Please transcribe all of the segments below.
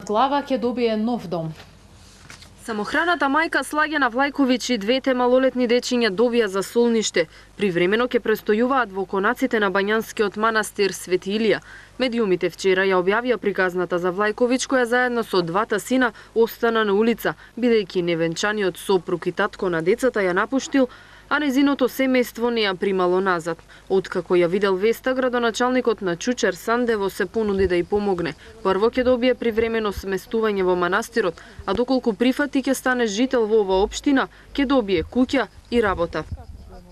Глава ќе добие нов дом. Самохраната мајка Слагена Влајковиќ и двете малолетни дечиња добија засолниште. Привремено ќе престојуваат во конаците на Бањанскиот манастир Свети Илија. Медиумите вчера ја објавија приказната за Влајковиќ, која заедно со двата сина остана на улица, бидејќи невенчаниот сопруг и татко на децата ја напуштил, а незиното семејство не ја примало назад. Откако ја видел веста, градоначалникот на Чучер Сандево се понуди да ја помогне. Прво ќе добие привремено сместување во манастирот, а доколку прифати ќе стане жител во оваа општина, ќе добие куќа и работа.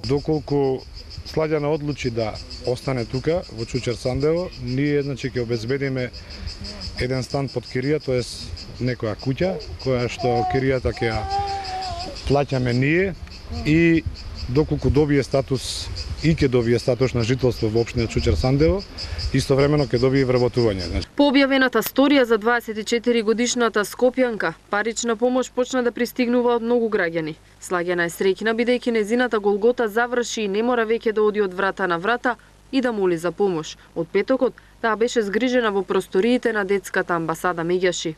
Доколку Слагена одлучи да остане тука во Чучер Сандево, ние ќе обезбедиме еден стан под кирија, тоест некоја куќа, која што киријата ќе ја плаќаме ние, и доколку добие статус и ќе добие статус на жителство во општина Чучер Сандево, истовремено ќе добие вработување. По објавената сторија за 24 годишната скопјанка, парична помош почна да пристигнува од многу граѓани. Слагена е среќна бидејќи незината голгота заврши и не мора веќе да оди од врата на врата и да моли за помош. Од петокот таа беше згрижена во просториите на детската амбасада Меѓаши.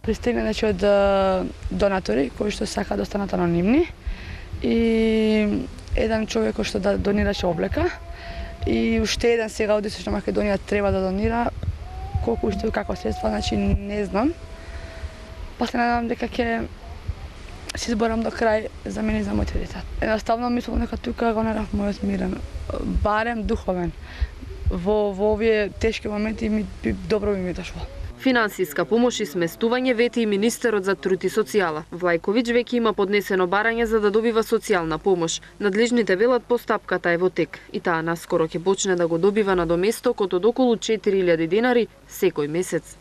Пристигна од донатори кои што сака да останат анонимни и еден човек кој што да донираше облека и уште еден сега од Источна Македонија треба да донира, колку уште како средства, значи не знам. Па се надам дека ќе се изборам до крај за мене и за моите деца. Едноставно мислам дека тука го најдов мојот мирен, барем духовен. Во овие тешки моменти добро ми дошло. Финансиска помош и сместување вети и министерот за труд и социјала. Влајковиќ веќе има поднесено барање за да добива социјална помош. Надлежните велат постапката е во тек и таа наскоро ќе почне да го добива надоместокот од околу 4000 денари секој месец.